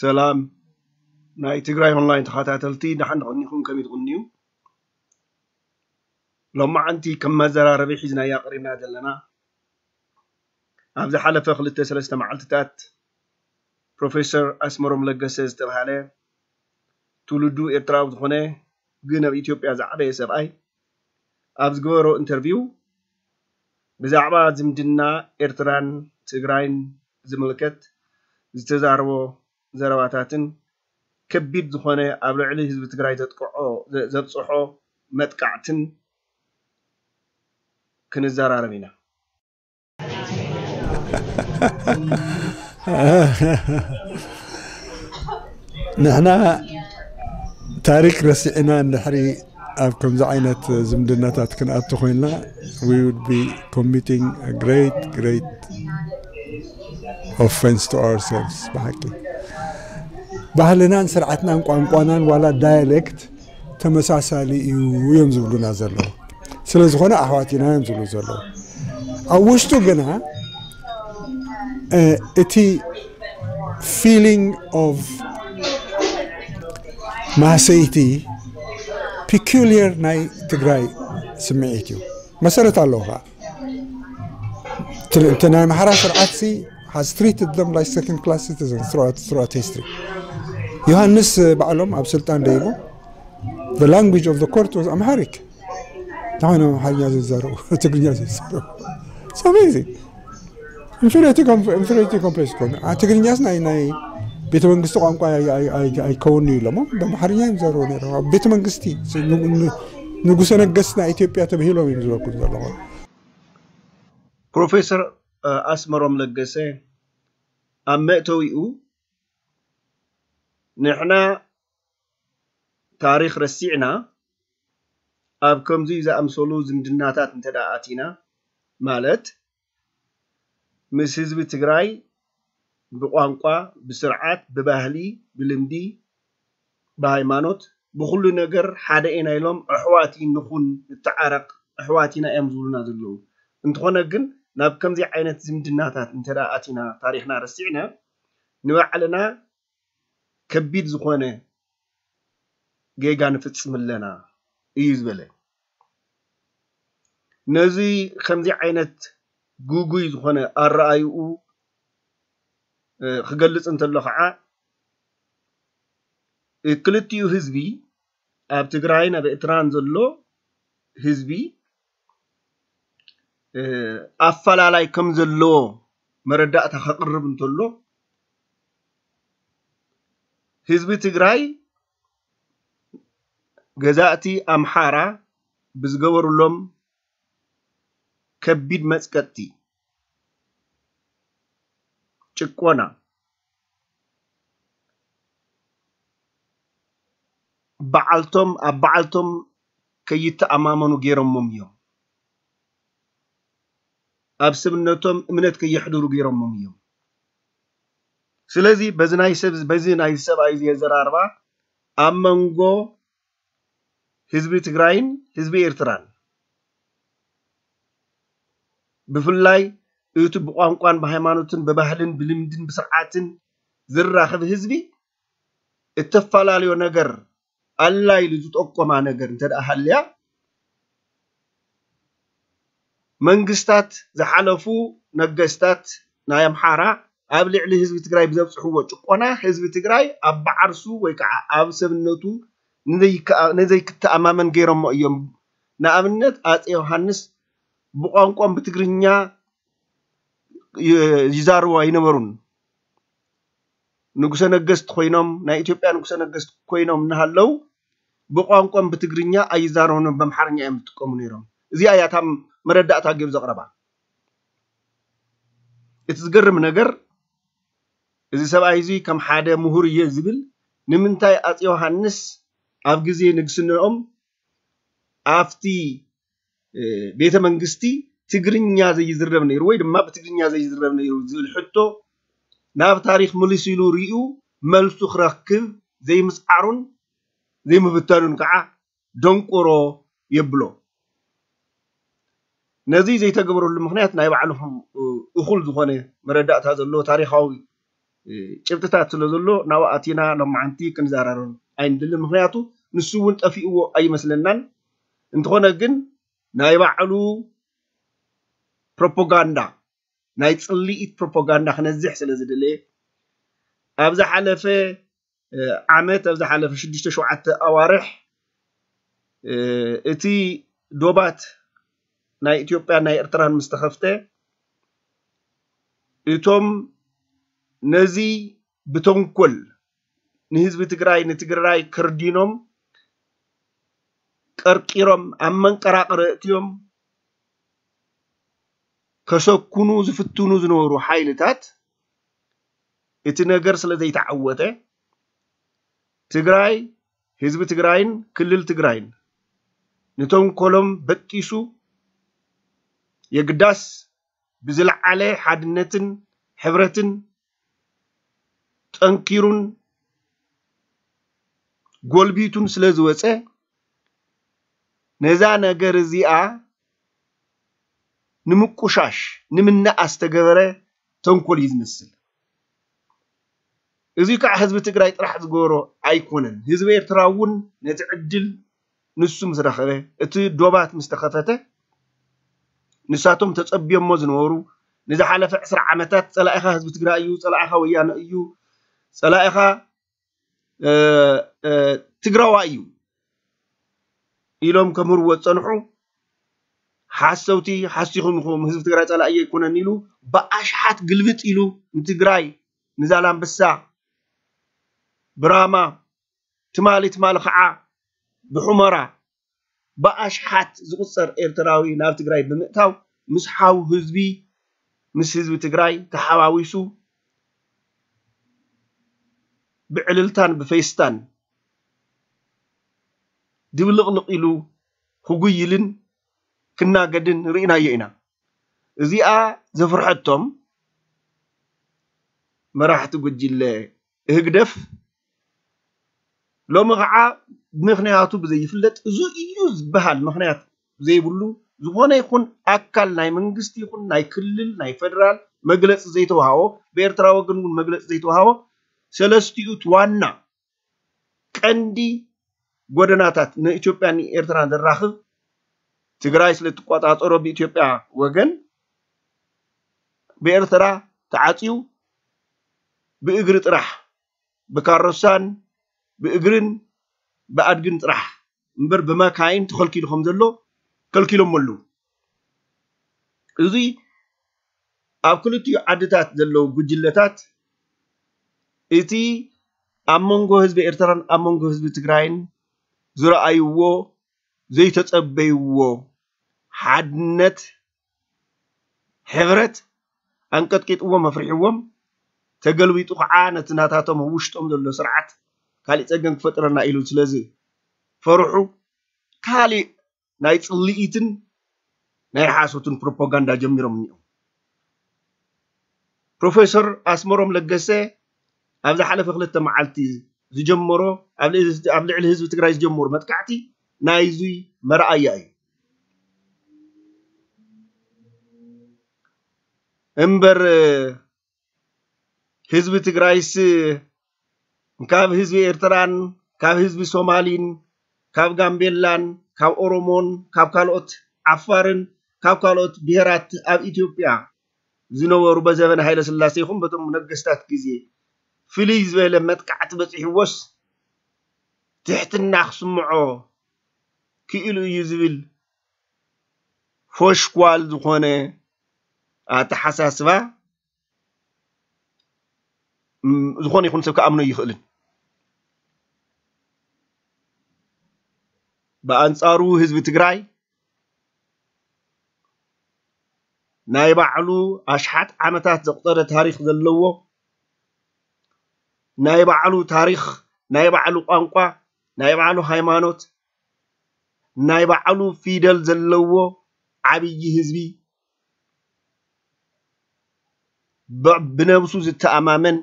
ሰላም ናይ ትግራይ ኦንላይን ተኸታተልቲ፣ ደሓን ዶ ቀኒኹም? ከመይ ትቕንዩ? ሎማዓንቲ ከም መዘራረቢ ሒዝናያ ቀሪብና ዘለና፣ ኣብ ዝሓለፈ ክልተ ሰለስተ መዓልትታት ፕሮፌሰር ኣስመሮም ለገሰ ዝተባህለ ትውልዱ ኤርትራዊ ዝኾነ ግን ኣብ ኢትዮጵያ ዝዓበየ ሰብኣይ ኣብ ዝገበሮ ኢንተርቪው ብዛዕባ ዝምድና ኤርትራን ትግራይን ዝምልከት ዝተዛረቦ ዘረባታትን ከቢድ ዝኾነ ኣብ ልዕሊ ህዝቢ ትግራይ ዘጥቅዖ ዘብፅሖ መጥቃዕትን ክንዘራረብ ኢና። ንሕና ታሪክ ረሲዕና እንድሕሪ ኣብ ከምዚ ዓይነት ዝምድናታት ክንኣቱ ኮይንና we would be committing a great great offense to ourselves። ብሓቂ ባህልናን ስርዓትናን ቋንቋናን ዋላ ዳያሌክት ተመሳሳሊ እዩ እዮም ዝብሉና ዘለዉ። ስለ ዝኾነ ኣሕዋት ኢና እዮም ዝብሉ ዘለዉ። ኣብ ውሽጡ ግና እቲ feeling of ማህሰይቲ peculiar ናይ ትግራይ ስምዒት እዩ። መሰረት ኣለዎ ከዓ እቲ ናይ ኣምሓራ ስርዓት ሲ has treated them like second class citizens throughout, throughout history። ዮሃንስ ባዕሎም ኣብ ስልጣን ደይቦም the language of the court was Amharic። ንኾይኖም ኣምሓርኛ ዘይዛረቡ ትግርኛ ዘይዛረቡ ሰመይዚ inferiority complex ኮኑ። ትግርኛስ ናይ ናይ ቤተ መንግስቲ ቋንቋ ኣይከውኑ ኢሎሞ ብኣምሓርኛ እዮም ዘረቡ ነይሮም ኣብ ቤተ መንግስቲ። ንጉሰ ነገስት ናይ ኢትዮጵያ ተብሂሎም እዮም ዝበልኩ ዘለኹ። ፕሮፌሰር ኣስመሮም ለገሰ ኣብ መእተዊኡ ንሕና ታሪኽ ረሲዕና ኣብ ከምዚ ዝኣምሰሉ ዝምድናታት እንተ ኣቲና ማለት ምስ ህዝቢ ትግራይ ብቋንቋ፣ ብስርዓት፣ ብባህሊ፣ ብልምዲ፣ ብሃይማኖት፣ ብኩሉ ነገር ሓደ ኢና ኢሎም ኣሕዋት ንኹን ንተዓረቕ ኣሕዋት ኢና እዮም ዝብሉና ዘለዉ። እንተኾነ ግን ናብ ከምዚ ዓይነት ዝምድናታት እንተ ኣቲና ታሪኽና ረሲዕና ንባዕልና ከቢድ ዝኾነ ጌጋ ንፍጽም ኣለና እዩ ዝበለ። ነዚ ከምዚ ዓይነት ግጉይ ዝኾነ ኣረኣይኡ ክገልጽ እንተሎ ከዓ ክልቲኡ ህዝቢ ኣብ ትግራይን ኣብ ኤርትራን ዘሎ ህዝቢ ኣፈላላይ ከም ዘለዎ መረዳእታ ከቕርብ እንተሎ ህዝቢ ትግራይ ገዛእቲ ኣምሓራ ብዝገበሩሎም ከቢድ መፅቀጥቲ፣ ጭቆና፣ በዓልቶም ኣብ በዓልቶም ከይተኣማመኑ ገይሮሞም እዮም። ኣብ ሰብነቶም እምነት ከየሕድሩ ገይሮሞም እዮም። ስለዚ በዚ ናይ ሰብ በዚ ናይ ሰብኣይ እዚ ኣዘራርባ ኣብ መንጎ ህዝቢ ትግራይን ህዝቢ ኤርትራን ብፍላይ እቲ ብቋንቋን ብሃይማኖትን ብባህልን ብልምድን ብስርዓትን ዝራኸብ ህዝቢ እተፈላለዮ ነገር ኣላ ኢሉ ዝጠቆማ ነገር እንተ ደኣ ሃልያ መንግስታት ዝሓለፉ ነገስታት ናይ ኣምሓራ ኣብ ልዕሊ ህዝቢ ትግራይ ብዘብፅሕዎ ጭቆና ህዝቢ ትግራይ ኣብ በዓርሱ ወይ ከዓ ኣብ ሰብነቱ ንዘይከኣ- ንዘይክተኣማመን ገይሮሞ እዮም። ንኣብነት ኣፀ ዮሃንስ ብቋንቋም ብትግርኛ ይ- ይዛረቡ ኣይነበሩን። ንጉሰ ነገስት ኮይኖም ናይ ኢትዮጵያ ንጉሰ ነገስት ኮይኖም እናሃለው ብቋንቋም ብትግርኛ ኣይዛረቡን፣ በምሓርኛ እዮም ዝጥቀሙ ነይሮም። እዚኣ እያ እታ መረዳእታ ገይሩ ዘቕረባ። እቲ ዝገርም ነገር እዚ ሰብኣይ እዚ ከም ሓደ ምሁር እየ ዝብል ንምንታይ ኣፅ ዮሃንስ ኣብ ግዜ ንግስንኦም ኣብቲ ቤተ መንግስቲ ትግርኛ ዘይዝረብ ነይሩ ወይ ድማ ብትግርኛ ዘይዝረብ ነይሩ ዝብል ሕቶ ናብ ታሪክ ምልስ ኢሉ ሪኡ መልሱ ክረክብ ዘይምፅዓሩን ዘይምብተኑን ከዓ ደንቆሮ የብሎ። ነዚ ዘይተገበረሉ ምክንያት ናይ ባዕሉ እኹል ዝኾነ መረዳእታ ዘለዎ ታሪካዊ ጭብጥታት ስለ ዘሎ ናብኡ ኣቲና ሎማዓንቲ ክንዘራረብ ኣይንደልን። ምኽንያቱ ንሱ እውን ጠፊእዎ ኣይመስለናን። እንተኾነ ግን ናይ ባዕሉ ፕሮፓጋንዳ፣ ናይ ጽልኢት ፕሮፓጋንዳ ክነዝሕ ስለ ዝደለየ፣ ኣብ ዝሓለፈ ዓመት፣ ኣብ ዝሓለፈ ሽዱሽተ ሸውዓተ ኣዋርሕ እቲ ዶባት ናይ ኢትዮጵያን ናይ ኤርትራን ምስ ተኸፍተ፣ እቶም ነዚ ብተንኮል ንህዝቢ ትግራይ፣ ንትግራይ ከርዲኖም፣ ቀርቂሮም፣ ኣብ መንቀራቕሪ ኣእትዮም ከሰኩኑ ዝፍትኑ ዝነበሩ ሓይልታት፣ እቲ ነገር ስለ ዘይተዓወተ፣ ትግራይ፣ ህዝቢ ትግራይን ክልል ትግራይን ንተንኮሎም በጢሱ፣ የግዳስ ብዝለዓለ ሓድነትን ሕብረትን ጠንኪሩን ጎልቢቱን ስለ ዝወፀ፣ ነዛ ነገር እዚኣ ንምቁሻሽ፣ ንምንኣ ዝተገበረ ተንኮል እዩ ዝመስል። እዚ ከዓ ህዝቢ ትግራይ ጥራሕ ዝገበሮ ኣይኮነን። ህዝቢ ኤርትራ እውን ነቲ ዕድል ንሱ ምስ ረኸበ፣ እቲ ዶባት ምስ ተኸፈተ፣ ንሳቶም ተጸብዮሞ ዝነበሩ፣ ንዝሓለፈ ዕስራ ዓመታት ጸላኢኻ ህዝቢ ትግራይ እዩ፣ ጸላኢኻ ወያነ እዩ፣ ጸላኢኻ፣ እ፣ እ፣ ትግራዋይ እዩ ኢሎም ከምህርዎ ዝጸንሑ ሓሰውቲ፣ ሓሲኹም ኢኹም፣ ህዝቢ ትግራይ ጸላኢ ኣይኮነን ኢሉ ብኣሽሓት ግልብጥ ኢሉ ንትግራይ፣ ንዛላምበሳ፣ ብራማ፣ ትማሊ፣ ትማሊ ኸዓ ብሑመራ ብኣሽሓት ዝቑጸር ኤርትራዊ ናብ ትግራይ ብምእታው፣ ምስ ሓው ህዝቢ፣ ምስ ህዝቢ ትግራይ ተሓዋዊሱ ብዕልልታን ብፌስታን ድብልቕልቕ ኢሉ ክጉይልን ክናገድን ርኢናዮ ኢና። እዚኣ ዘፍርሐቶም መራሕቲ ጉጅለ ህግደፍ፣ ሎሚ ኸዓ ምኽንያቱ ብዘይፍለጥ፣ እዚ እዩ ዝበሃል ምኽንያት ዘይብሉ፣ ዝኾነ ይኹን ኣካል ናይ መንግስቲ ይኹን ናይ ክልል፣ ናይ ፌደራል መግለጺ ዘይተዋሃቦ፣ ብኤርትራ ወገን እውን መግለጺ ዘይተዋሃቦ፣ ሰለስቲኡ እቲ ዋና ቀንዲ ጎደናታት ንኢትዮጵያን ንኤርትራን ዘራኽብ፣ ትግራይ ስለ እትቆጻጸሮ ብኢትዮጵያ ወገን፣ ብኤርትራ ተዓጽዩ ብእግሪ ጥራሕ፣ ብካሮሳን ብእግርን ብኣድግን ጥራሕ እምበር ብመካይን ተኸልኪሉ ከም ዘሎ ከልኪሎሞ ኣለዉ። እዚ ኣብ ክልቲኡ ዓድታት ዘለዉ ጉጅለታት፣ እቲ ኣብ መንጎ ህዝቢ ኤርትራን ኣብ መንጎ ህዝቢ ትግራይን ዝረኣይዎ ዘይተጸበይዎ ሓድነት፣ ሕብረት ኣንቀጥቂጥዎም ኣፍሪሕዎም፣ ተገልቢጡ ከዓ ነቲ ናታቶም ኣብ ውሽጦም ዘሎ ስርዓት ካሊእ ጸገም ክፈጥረና ኢሉ ስለ ዝፈርሑ፣ ካሊእ ናይ ጽልኢትን ናይ ሓሶትን ፕሮፓጋንዳ ጀሚሮም እኒኦም። ፕሮፌሰር ኣስመሮም ለገሰ ኣብ ዝሓለፈ ክልተ መዓልቲ ዝጀመሮ፣ ኣብ ልዕሊ፣ ኣብ ልዕሊ ህዝቢ ትግራይ ዝጀመሮ መጥቃዕቲ ናይዚ መርኣያ እዩ። እምበር ህዝቢ ትግራይስ ካብ ህዝቢ ኤርትራን ካብ ህዝቢ ሶማሊን ካብ ጋምቤላን ካብ ኦሮሞን ካብ ካልኦት ዓፋርን ካብ ካልኦት ብሄራት ኣብ ኢትዮጵያ ዝነበሩ በዘበን ሃይለ ስላሴ ይኹን በቶም ነገስታት ግዜ ፍልይ ዝበለ መጥቃዕቲ በፂሕዎስ ትሕትና ክስምዖ ክኢሉ እዩ ዝብል ፎሽኳል ዝኾነ ኣተሓሳስባ፣ ም፣ ዝኾነ ይኹን ሰብ ክኣምኖ ይኽእልን። ብኣንጻሩ ህዝቢ ትግራይ ናይ ባዕሉ ኣሽሓት ዓመታት ዘቑጸረ ታሪኽ ዘለዎ፣ ናይ ባዕሉ ታሪኽ፣ ናይ ባዕሉ ቋንቋ፣ ናይ ባዕሉ ሃይማኖት፣ ናይ ባዕሉ ፊደል ዘለዎ ዓብዪ ህዝቢ፣ ብ-፣ ብነብሱ ዝተኣማመን፣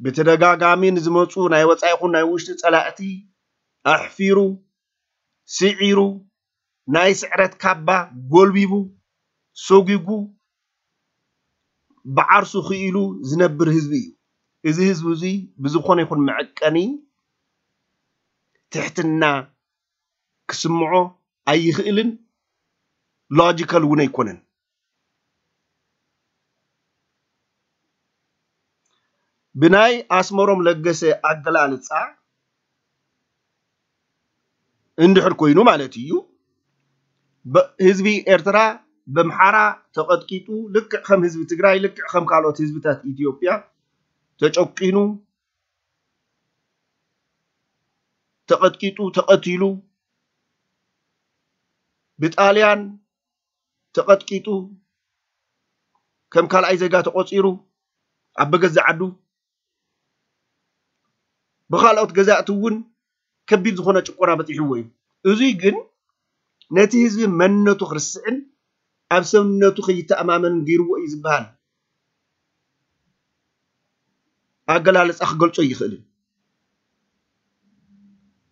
ብተደጋጋሚ ንዝመፁ ናይ ወፃኢ ይኹን ናይ ውሽጢ ፀላእቲ ኣሕፊሩ፣ ስዒሩ፣ ናይ ስዕረት ካባ ጎልቢቡ፣ ሰጒጉ፣ ብዓርሱ ክኢሉ ዝነብር ህዝቢ እዩ። እዚ ህዝቢ እዚ ብዝኾነ ይኹን መዐቀኒ ትሕትና ክስምዖ ኣይኽእልን፣ ሎጂካል እውን ኣይኮነን። ብናይ ኣስመሮም ለገሰ ኣገላልፃ እንድሕር ኮይኑ ማለት እዩ፣ ህዝቢ ኤርትራ በምሓራ ተቐጥቂጡ ልክዕ ከም ህዝቢ ትግራይ፣ ልክዕ ከም ካልኦት ህዝብታት ኢትዮጵያ ተጨቂኑ፣ ተቐጥቂጡ፣ ተቐቲሉ፣ ብጣልያን ተቐጥቂጡ፣ ከም ካልኣይ ዜጋ ተቖፂሩ፣ ኣብ በገዛ ዓዱ ብኻልኦት ገዛእቲ እውን ከቢድ ዝኾነ ጭቆና በፂሕዎ እዩ። እዙይ ግን ነቲ ህዝቢ መንነቱ ክርስዕን ኣብ ሰብነቱ ከይተኣማመንን ገይርዎ እዩ ዝበሃል ኣገላልፃ ክገልጾ ይኽእልን።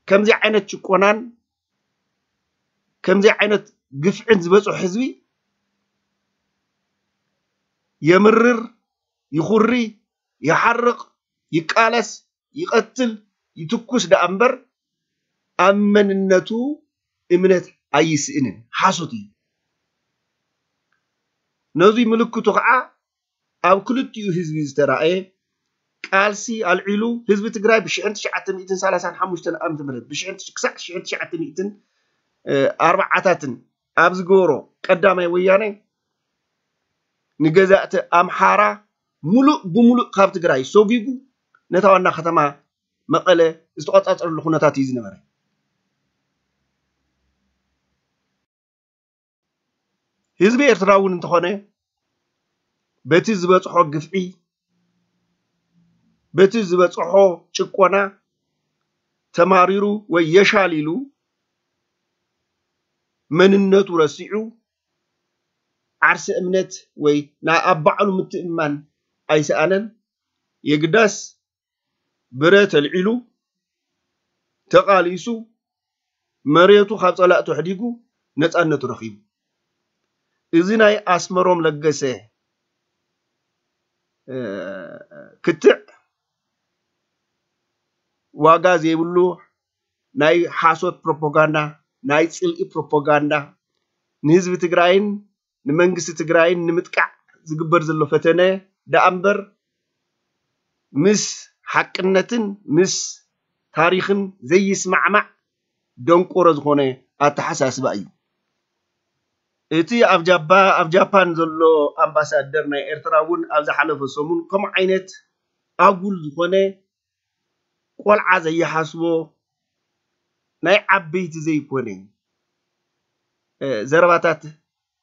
ከምዚ ዓይነት ጭቆናን ከምዚ ዓይነት ግፍዕን ዝበፅሖ ህዝቢ የምርር፣ ይኹሪ፣ ይሓርቕ፣ ይቃለስ፣ ይቐትል፣ ይትኩስ ደኣ እምበር ኣብ መንነቱ እምነት ኣይስእንን። ሓሶት እዩ። ነዙይ ምልክቱ ከዓ ኣብ ክልቲኡ ህዝቢ ዝተራእየ ቃልሲ ኣልዒሉ ህዝቢ ትግራይ ብሽሕን ትሽዓተ ሚእትን ሰላሳን ሓሙሽተን ዓመተ ምህረት ብሽሕን ክሳዕ ሽሕን ትሽዓተ ሚእትን ኣርባዓታትን ኣብ ዝገበሮ ቀዳማይ ወያነ ንገዛእቲ ኣምሓራ ሙሉእ ብሙሉእ ካብ ትግራይ ሰጒጉ ነታ ዋና ከተማ መቐለ ዝተቆፃፀረሉ ኩነታት እዩ ዝነበረ። ህዝቢ ኤርትራ እውን እንተኾነ በቲ ዝበፅሖ ግፍዒ፣ በቲ ዝበፅሖ ጭቆና ተማሪሩ ወይ የሻል ኢሉ መንነቱ ረሲዑ ዓርሰ እምነት ወይ ናይ ኣብ ባዕሉ ምትእምማን ኣይሰኣነን። የግዳስ ብረት ኣልዒሉ ተቓሊሱ መሬቱ ካብ ፀላእቱ ኣሕዲጉ ነፃነቱ ረኺቡ። እዚ ናይ ኣስመሮም ለገሰ ክትዕ ዋጋ ዘይብሉ ናይ ሓሶት ፕሮፓጋንዳ፣ ናይ ፅልኢ ፕሮፓጋንዳ ንህዝቢ ትግራይን ንመንግስቲ ትግራይን ንምጥቃዕ ዝግበር ዘሎ ፈተነ ደኣ እምበር ምስ ሓቅነትን ምስ ታሪኽን ዘይስማዕማዕ ደንቆሮ ዝኾነ ኣተሓሳስባ እዩ። እቲ ኣብ ጃባ ኣብ ጃፓን ዘሎ ኣምባሳደር ናይ ኤርትራ እውን ኣብ ዝሓለፈ ሰሙን ከምኡ ዓይነት ኣጉል ዝኾነ ቆልዓ ዘይሓስቦ ናይ ዓበይቲ ዘይኮነ ዘረባታት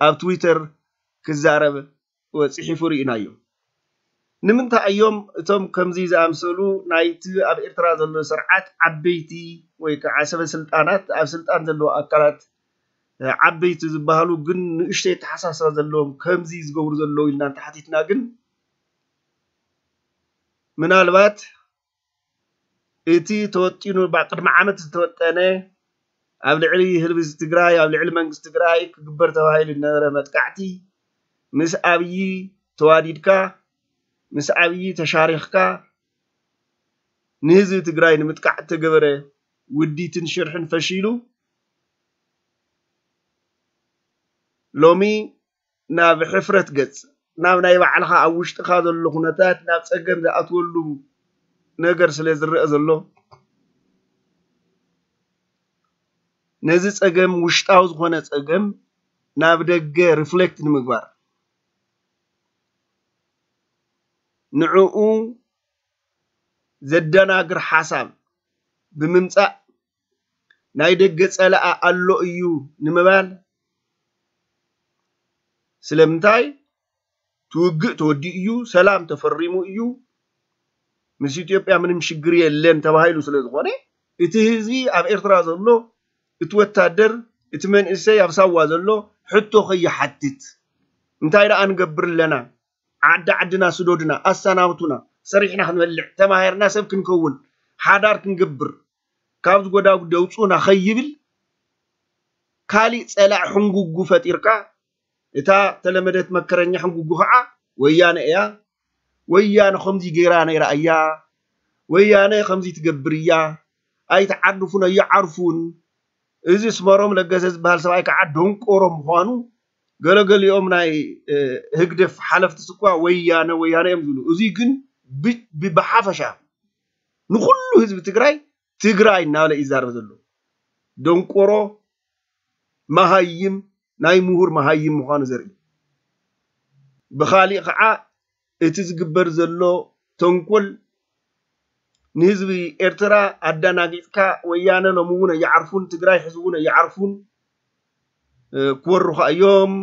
ኣብ ትዊተር ክዛረብ ወፂሒፉ ርኢናዮ። ንምንታይ እዮም እቶም ከምዚ ዝኣምሰሉ ናይቲ ኣብ ኤርትራ ዘሎ ስርዓት ዓበይቲ ወይ ከዓ ሰበ ስልጣናት ኣብ ስልጣን ዘለዉ ኣካላት ዓበይቲ ዝበሃሉ ግን ንእሽተይ ተሓሳስባ ዘለዎም ከምዚ ዝገብሩ ዘለዉ ኢልና እንተሓቲትና ግን ምናልባት እቲ ተወጢኑ ቅድሚ ዓመት ዝተወጠነ ኣብ ልዕሊ ህዝቢ ትግራይ ኣብ ልዕሊ መንግስቲ ትግራይ ክግበር ተባሂሉ ዝነበረ መጥቃዕቲ ምስ ኣብዪ ተዋዲድካ ምስ ኣብዪ ተሻሪኽካ ንህዝቢ ትግራይ ንምጥቃዕ እተገበረ ውዲትን ሽርሕን ፈሺሉ ሎሚ ናብ ሕፍረት ገፅ ናብ ናይ ባዕልኻ ኣብ ውሽጥኻ ዘሎ ኩነታት ናብ ፀገም ዝኣትወሉ ነገር ስለ ዝረአ ዘሎ ነዚ ፀገም ውሽጣዊ ዝኾነ ፀገም ናብ ደገ ሪፍሌክት ንምግባር ንዕኡ ዘደናግር ሓሳብ ብምምፃእ ናይ ደገ ፀላኢ ኣሎ እዩ ንምባል ስለምንታይ ትውግእ ተወዲኡ እዩ ሰላም ተፈሪሙ እዩ ምስ ኢትዮጵያ ምንም ሽግር የለን ተባሂሉ ስለ ዝኾነ እቲ ህዝቢ ኣብ ኤርትራ ዘሎ እቲ ወታደር እቲ መንእሰይ ኣብ ሳዋ ዘሎ ሕቶ ከይሓትት እንታይ ደኣ ንገብር ኣለና ዓዲ ዓድና ስደዱና ኣሰናብቱና ሰሪሕና ክንበልዕ ተማሂርና ሰብ ክንከውን ሓዳር ክንገብር ካብዚ ጎዳጉዲ ኣውፅኡና ከይብል ካሊእ ፀላእ ሕንጉጉ ፈጢርካ እታ ተለመደት መከረኛ ሕንጉጉ ከዓ ወያነ እያ፣ ወያነ ከምዚ ገይራ ነይራ እያ፣ ወያነ ከምዚ ትገብር እያ፣ ኣይትዓርፉን ኣይዓርፉን። እዚ ኣስመሮም ለገሰ ዝበሃል ሰብኣይ ከዓ ደንቆሮ ምዃኑ፣ ገለገሊኦም ናይ ህግደፍ ሓለፍቲ ስኳ ወያነ ወያነ እዮም ዝብሉ። እዚ ግን ብሓፈሻ ንኩሉ ህዝቢ ትግራይ ትግራይ እናበለ ይዛረብ ዘሎ ደንቆሮ፣ መሃይም፣ ናይ ምሁር መሃይም ምዃኑ ዘርኢ። ብኻሊእ ከዓ እቲ ዝግበር ዘሎ ተንኮል ንህዝቢ ኤርትራ ኣዳናጊፅካ፣ ወያነ ሎሚ እውን ኣይዓርፉን፣ ትግራይ ሕዚ እውን ኣይዓርፉን፣ ክወሩኻ እዮም፣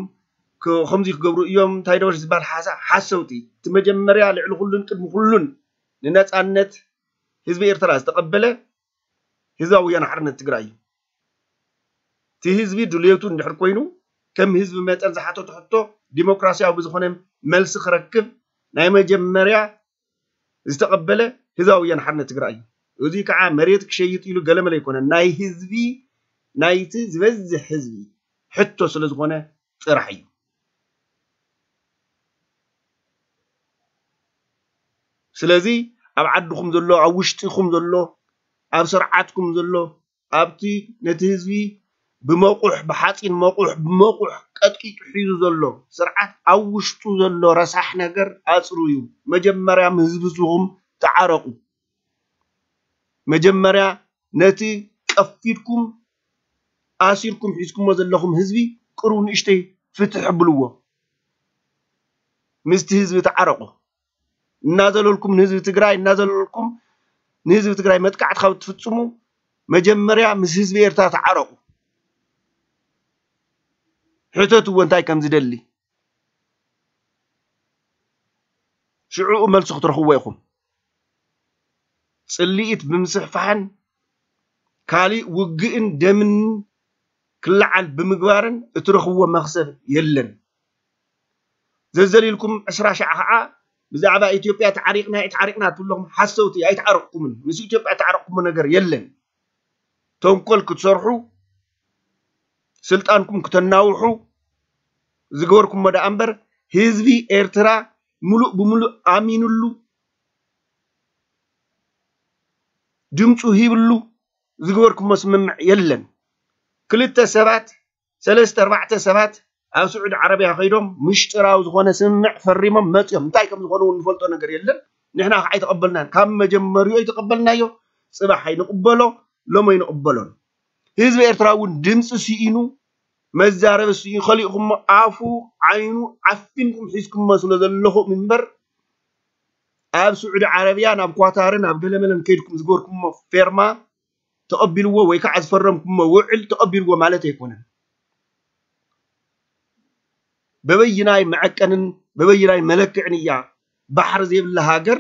ከምዚ ክገብሩ እዮም፣ እንታይ ደበሽ ዝበሃል ሓሳ ሓሰውቲ። እቲ መጀመርያ ልዕሊ ኩሉን ቅድሚ ኩሉን ንነፃነት ህዝቢ ኤርትራ ዝተቐበለ ህዝባዊ ወያነ ሓርነት ትግራይ እዩ። እቲ ህዝቢ ድልየቱ እንድሕር ኮይኑ ከም ህዝቢ መጠን ዝሓተቱ ሕቶ ዲሞክራሲያዊ ብዝኾነ መልሲ ክረክብ ናይ መጀመርያ ዝተቐበለ ህዝባዊ ወያነ ሓርነት ትግራይ እዩ። እዚ ከዓ መሬት ክሸይጥ ኢሉ ገለመለ ኣይኮነን። ናይ ህዝቢ ናይቲ ዝበዝሕ ህዝቢ ሕቶ ስለ ዝኾነ ጥራሕ እዩ። ስለዚ ኣብ ዓድኹም ዘሎ፣ ኣብ ውሽጥኹም ዘሎ፣ ኣብ ስርዓትኩም ዘሎ፣ ኣብቲ ነቲ ህዝቢ ብመቑሕ፣ ብሓፂን መቑሕ፣ ብመቑሕ ቀጥቂጡ ሒዙ ዘሎ ስርዓት ኣብ ውሽጡ ዘሎ ረሳሕ ነገር ኣፅርዩ። መጀመርያ ምስ ህዝብኹም ተዓረቑ። መጀመርያ ነቲ ቀፊድኩም ኣሲርኩም ሒዝኩሞ ዘለኹም ህዝቢ ቅሩብ ንእሽተይ ፍትሕ ብልዎ። ምስቲ ህዝቢ ተዓረቑ። እናዘለልኩም ንህዝቢ ትግራይ፣ እናዘለልኩም ንህዝቢ ትግራይ መጥቃዕቲ ካብ ትፍፅሙ መጀመርያ ምስ ህዝቢ ኤርትራ ተዓረቑ። ሕተትዎ እንታይ ከም ዝደሊ። ሽዕኡ መልሲ ክትረኽብዎ ኢኹም። ፅልኢት ብምስፍፋሕን ካሊእ ውግእን ደምን ክለዓል ብምግባርን እትረኽብዎ መኽሰብ የለን። ዘዘሊልኩም ዕስራ ሻዕ ከዓ ብዛዕባ ኢትዮጵያ ተዓሪቕና ተዓሪቕና ትብለኹም ሓሰውቲ ኣይተዓረቕኩምን። ምስ ኢትዮጵያ ተዓረቕኩሞ ነገር የለን። ተንኮል ክትሰርሑ ስልጣንኩም ክተናውሑ ዝገበርኩሞ ደኣ እምበር ህዝቢ ኤርትራ ሙሉእ ብሙሉእ ኣሚኑሉ ድምፁ ሂብሉ ዝገበርኩሞ ስምምዕ የለን። ክልተ ሰባት ሰለስተ ኣርባዕተ ሰባት ኣብ ስዑዲ ዓረብያ ከይዶም ምሽጥራዊ ዝኾነ ስምምዕ ፈሪሞም መፅዮም። እንታይ ከም ዝኾነ እውን ንፈልጦ ነገር የለን። ንሕና ከዓ ኣይተቐበልናን። ካብ መጀመሪኡ ኣይተቐበልናዮ። ፅባሕ ኣይንቕበሎ፣ ሎም ኣይንቕበሎን። ህዝቢ ኤርትራ እውን ድምፂ ስኢኑ መዛረቢ ስኢኑ ከሊእኩሞ ኣፉ ዓይኑ ዓፊንኩም ሒዝኩሞ ስለ ዘለኹም እምበር ኣብ ስዑዲ ዓረብያ ናብ ኳታርን ኣብ ገለመለን ከይድኩም ዝገበርኩሞ ፌርማ ተቐቢልዎ ወይ ከዓ ዝፈረምኩሞ ውዕል ተቐቢልዎ ማለት ኣይኮነን። በበይናይ መዐቀንን በበይናይ መለክዕን እያ ባሕሪ ዘይብላ ሃገር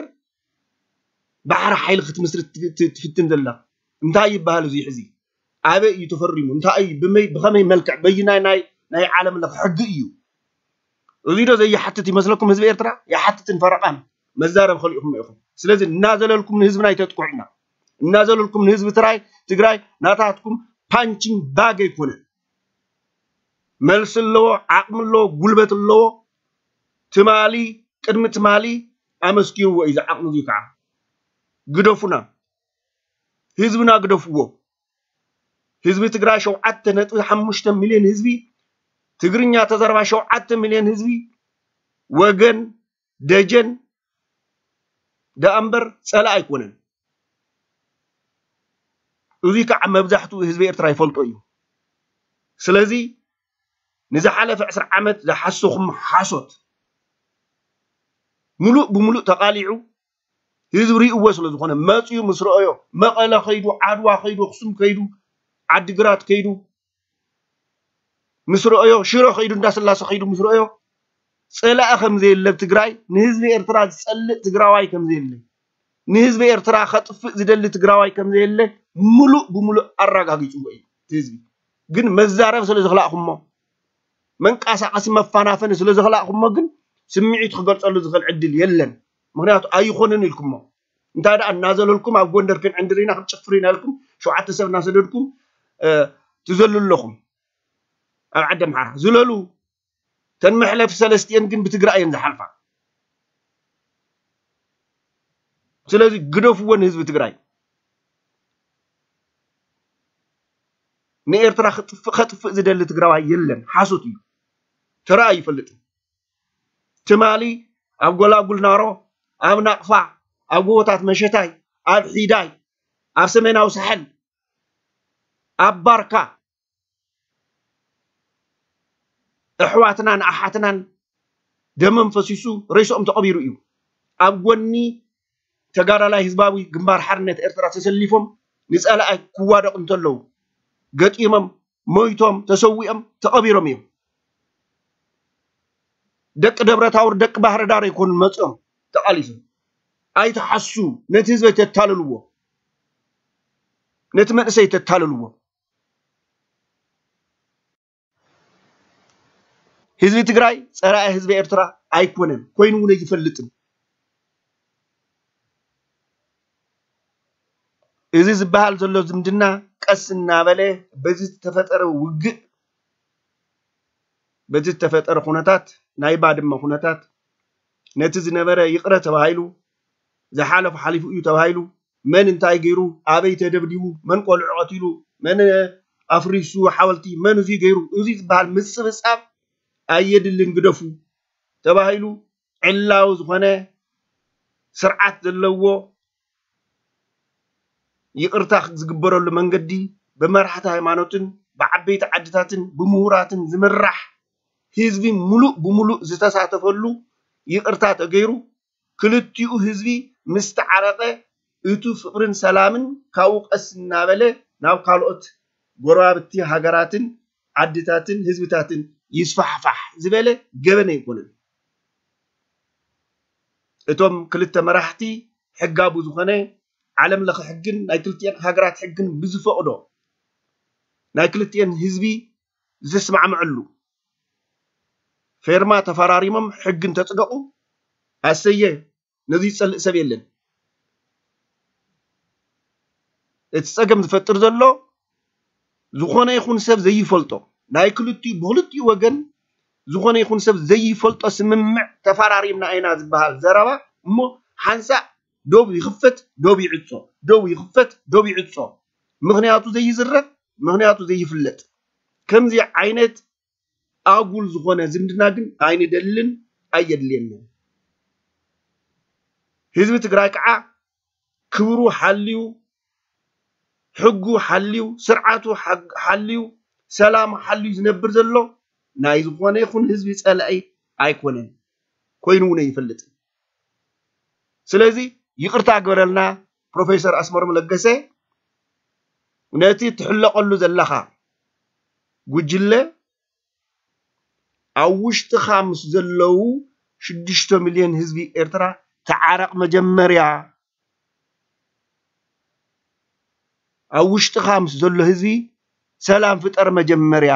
ባሕሪ ሓይሊ ክትምስርት ትፍትን ዘላ? እንታይ ይበሃል እዚ ሕዚ? ኣበይ እዩ ተፈሪሙ? እንታይ እዩ? ብመይ ብኸመይ መልክዕ? በይናይ ናይ ናይ ዓለም ለኽ ሕጊ እዩ? እዚ ዶ ዘይሓትት ይመስለኩም ህዝቢ ኤርትራ? ይሓትትን ፈረቓን መዛረብ ከሊእኹም ኢኹም። ስለዚ እናዘለልኩም ንህዝብና ኣይተጥቅዑና። እናዘለልኩም ንህዝቢ ትራይ ትግራይ ናታትኩም ፓንቺንግ ባግ ኣይኮነን። መልሲ ኣለዎ፣ ዓቕሚ ኣለዎ፣ ጉልበት ኣለዎ። ትማሊ ቅድሚ ትማሊ ኣመስኪርዎ እዩ ዝዓቕሚ እዙይ ከዓ ግደፉና። ህዝብና ግደፍዎ። ህዝቢ ትግራይ ሸውዓተ ነጥቢ ሓሙሽተ ሚልዮን ህዝቢ፣ ትግርኛ ተዛረባ ሸውዓተ ሚልዮን ህዝቢ ወገን ደጀን ደኣ እምበር ፀላእ ኣይኮነን። እዙይ ከዓ መብዛሕትኡ ህዝቢ ኤርትራ ይፈልጦ እዩ። ስለዚ ንዝሓለፈ ዕስራ ዓመት ዝሓሰኹም ሓሶት ሙሉእ ብሙሉእ ተቓሊዑ ህዝቢ ርእይዎ ስለ ዝኾነ መፅዩ ምስ ረኣዮ መቐለ ከይዱ ዓድዋ ከይዱ ኣኽሱም ከይዱ ዓዲግራት ከይዱ ምስ ረኣዮ ሽረ ከይዱ እንዳስላሰ ከይዱ ምስ ረኣዮ ፀላኢ ከም ዘየለ ኣብ ትግራይ ንህዝቢ ኤርትራ ዝፀልእ ትግራዋይ ከም ዘየለ ንህዝቢ ኤርትራ ከጥፍእ ዝደሊ ትግራዋይ ከም ዘየለ ሙሉእ ብሙሉእ ኣረጋጊፅዎ እዩ እቲ ህዝቢ። ግን መዛረብ ስለ ዝኽላእኩሞ መንቀሳቐሲ መፋናፈኒ ስለ ዝኽላእኩሞ ግን ስምዒቱ ክገልፀሉ ዝኽእል ዕድል የለን። ምክንያቱ ኣይኾንን ኢልኩሞ እንታይ ደኣ እናዘለልኩም ኣብ ጎንደር ክንዕንድር ኢና ክንጭፍር ኢና ኢልኩም ሸውዓተ ሰብ እናሰደድኩም ትዘሉ ኣለኹም። ኣብ ዓዲ ኣምሓራ ዝለሉ ተን መሕለፊ ሰለስቲኤን ግን ብትግራይ እየን ዝሓልፋ። ስለዚ ግደፍዎ ንህዝቢ ትግራይ። ንኤርትራ ክጥፍእ ከጥፍእ ዝደሊ ትግራዋይ የለን። ሓሶት እዩ። ተራእዩ ይፈልጥ። ትማሊ ኣብ ጎላጉል ናሮ፣ ኣብ ናቕፋ፣ ኣብ ጎቦታት መሸታይ፣ ኣብ ሒዳይ፣ ኣብ ሰሜናዊ ሳሕል፣ ኣብ ባርካ፣ ኣሕዋትናን ኣሓትናን ደሞም ፈሲሱ ሬስኦም ተቐቢሩ እዩ። ኣብ ጎኒ ተጋዳላይ ህዝባዊ ግንባር ሓርነት ኤርትራ ተሰሊፎም ንጸላኣይ ክዋደቑ እንተለዉ ገጢሞም፣ ሞይቶም፣ ተሰዊኦም፣ ተቐቢሮም እዮም። ደቂ ደብረ ታቦር፣ ደቂ ባህር ዳር ኣይኮኑን መጺኦም ተቓሊሶም። ኣይትሓሱ፣ ነቲ ህዝቢ ኣይተታልልዎ፣ ነቲ መንእሰይ ኣይተታልልዎ። ህዝቢ ትግራይ ጸላኢ ህዝቢ ኤርትራ ኣይኮነን፣ ኮይኑ እውን ኣይፈልጥን። እዚ ዝበሃል ዘሎ ዝምድና ቀስ እናበለ በዚ ዝተፈጠረ ውግእ፣ በዚ ዝተፈጠረ ኩነታት፣ ናይ ባድመ ኩነታት፣ ነቲ ዝነበረ ይቕረ ተባሂሉ፣ ዝሓለፉ ሓሊፉ እዩ ተባሂሉ፣ መን እንታይ ገይሩ፣ ኣበይ ተደብዲቡ፣ መን ቆልዑ ቀቲሉ፣ መን ኣፍሪሱ ሓወልቲ፣ መን እዚ ገይሩ፣ እዚ ዝበሃል ምጽብጻብ ኣየድልን፣ ግደፉ ተባሂሉ፣ ዕላዊ ዝኾነ ስርዓት ዘለዎ ይቕርታ ዝግበረሉ መንገዲ ብመራሕቲ ሃይማኖትን ብዓበይቲ ዓድታትን ብምሁራትን ዝምራሕ ህዝቢ ሙሉእ ብሙሉእ ዝተሳተፈሉ ይቕርታ ተገይሩ፣ ክልቲኡ ህዝቢ ምስ ተዓረቐ፣ እቱ ፍቕርን ሰላምን ካብኡ ቀስ እናበለ ናብ ካልኦት ጎረባብቲ ሃገራትን ዓድታትን ህዝብታትን ይስፋሕፋሕ ዝበለ ገበን ኣይኮነን። እቶም ክልተ መራሕቲ ሕጋዊ ዝኾነ ዓለም ለኸ ሕግን ናይ ክልቲኤን ሃገራት ሕግን ብዝፈቕዶ ናይ ክልቲኤን ህዝቢ ዝተስማዕምዐሉ ፌርማ ተፈራሪሞም ሕግን ተጽደቑ፣ ኣሰየ፣ ነዚ ይጸልእ ሰብ የለን። እቲ ጸገም ዝፈጥር ዘሎ ዝኾነ ይኹን ሰብ ዘይፈልጦ፣ ናይ ክልቲኡ፣ ብኽልቲኡ ወገን ዝኾነ ይኹን ሰብ ዘይፈልጦ ስምምዕ ተፈራሪምና ኢና ዝበሃል ዘረባ እሞ ሓንሳእ ዶብ ይኽፈት፣ ዶብ ይዕጾ፣ ዶብ ይኽፈት፣ ዶብ ይዕጾ። ምኽንያቱ ዘይዝረብ፣ ምኽንያቱ ዘይፍለጥ። ከምዚ ዓይነት ኣጉል ዝኾነ ዝምድና ግን ኣይንደልን፣ ኣየድልየንን። ህዝቢ ትግራይ ከዓ ክብሩ ሓልዩ፣ ሕጉ ሓልዩ፣ ስርዓቱ ሓ-፣ ሓልዩ፣ ሰላሙ ሓልዩ ዝነብር ዘሎ ናይ ዝኾነ ይኹን ህዝቢ ጸላኢ ኣይኮነን፣ ኮይኑ እውን ኣይፈልጥን። ስለዚ ይቕርታ ግበረልና ፕሮፌሰር ኣስመሮም ለገሰ፣ ነቲ ትሕለቐሉ ዘለኻ ጉጅለ ኣብ ውሽጥኻ ምስ ዘለዉ ሽዱሽተ ሚልዮን ህዝቢ ኤርትራ ተዓረቕ መጀመርያ። ኣብ ውሽጥኻ ምስ ዘሎ ህዝቢ ሰላም ፍጠር መጀመርያ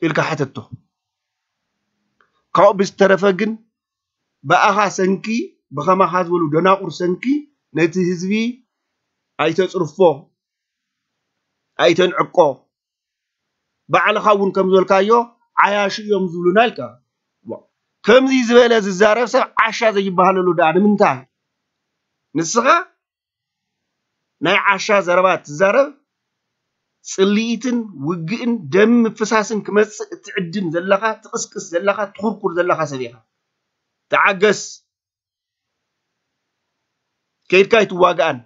ኢልካ ሓተቶ። ካብኡ ብዝተረፈ ግን ብኣኻ ሰንኪ፣ ብኸማኻ ዝበሉ ደናቑር ሰንኪ ነቲ ህዝቢ ኣይተጽርፎ፣ ኣይተንዕቆ። ባዕልኻ እውን ከም ዝበልካዮ ዓያሹ እዮም ዝብሉና ኢልካ። ዋ፣ ከምዚ ዝበለ ዝዛረብ ሰብ ዓሻ ዘይበሃለሉ ደኣ ንምንታይ? ንስኻ ናይ ዓሻ ዘረባ ትዛረብ፣ ጽልኢትን ውግእን ደም ምፍሳስን ክመጽእ እትዕድም ዘለኻ፣ ትቕስቅስ ዘለኻ፣ ትኹርኩር ዘለኻ ሰብ ኢኻ። ተዓገስ። ከይድካ ኣይትዋጋኣን።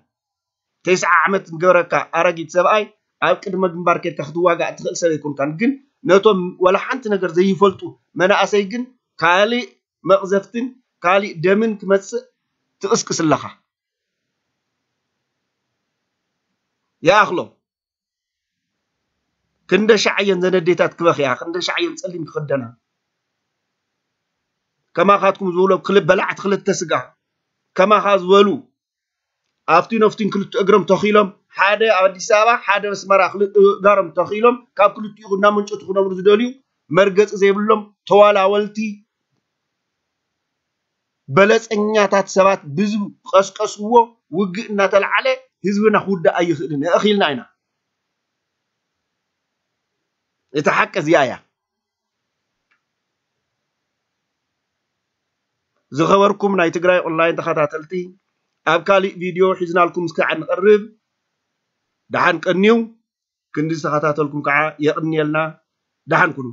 ተስዓ ዓመት ዝገበረካ ኣረጊት ሰብኣይ ኣብ ቅድመ ግንባር ከይድካ ክትዋጋእ ትኽእል ሰብ ኣይኮንካን። ግን ነቶም ወላ ሓንቲ ነገር ዘይፈልጡ መናእሰይ ግን ካልእ መቕዘፍትን ካልእ ደምን ክመጽእ ትቕስቅስ ኣለኻ። ይኣኽሎ። ክንደ ሻዕ እየን ዘን ኣዴታት ክበኽያ፣ ክንደ ሻዕ እየን ጸሊም ክኽደና። ከማኻትኩም ዝበሉ ክል-፣ በላዕቲ ክልተ ስጋ፣ ከማኻ ዝበሉ ኣፍቲን ኣፍቲን ክልተ እግሮም ተኺሎም፣ ሓደ ኣብ ኣዲስ ኣበባ፣ ሓደ ኣብ ኣስመራ ክል-፣ እጋሮም ተኺሎም፣ ካብ ክልቲኡ እናመንጨቱ ክነብሩ ዝደልዩ፣ መርገጺ ዘይብሎም ተዋላወልቲ፣ በለጸኛታት ሰባት ብዝቀስቀስዎ ውግእ እናተላዕለ ህዝብና ክውዳእ ኣይኽእልን። ኣእኺልና ኢና። እቲ ሓቂ እዚኣ እያ። ዝኸበርኩም ናይ ትግራይ ኦንላይን ተኸታተልቲ፣ ኣብ ካሊእ ቪድዮ ሒዝናልኩም እስካዕ ንቐርብ። ደሓን ቀንዩ። ክንዲ ዝተኸታተልኩም ከዓ የቕንየልና። ደሓን ኩኑ።